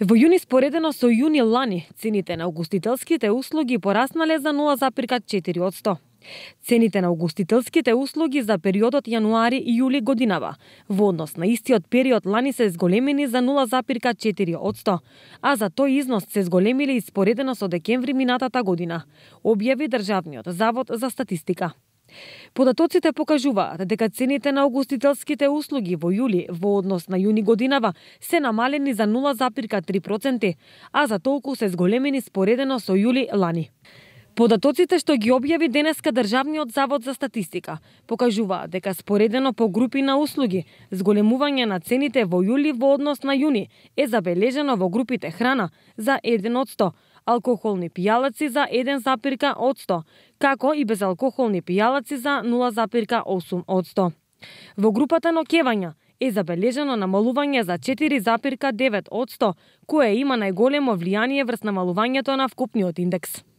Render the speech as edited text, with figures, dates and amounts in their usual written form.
Во јуни споредено со јуни лани, цените на угостителските услуги пораснале за 0,4%. Цените на угостителските услуги за периодот јануари и јули годинава во однос на истиот период лани се зголемени за 0,4%, а за тој износ се зголемиле и споредено со декември минатата година, објави Државниот завод за статистика. Податоците покажуваат дека цените на угостителските услуги во јули во однос на јуни годинава се намалени за 0,3%, а за толку се зголемени споредено со јули лани. Податоците што ги објави денеска Државниот завод за статистика покажуваат дека споредено по групи на услуги, зголемување на цените во јули во однос на јуни е забележено во групите храна за 1%, алкохолни пијалаци за 1,8%, како и безалкохолни пијалаци за 0,8%. Во групата ноќевања е забележено намалување за 4,9%, кое има најголемо влијание врз намалувањето на вкупниот индекс.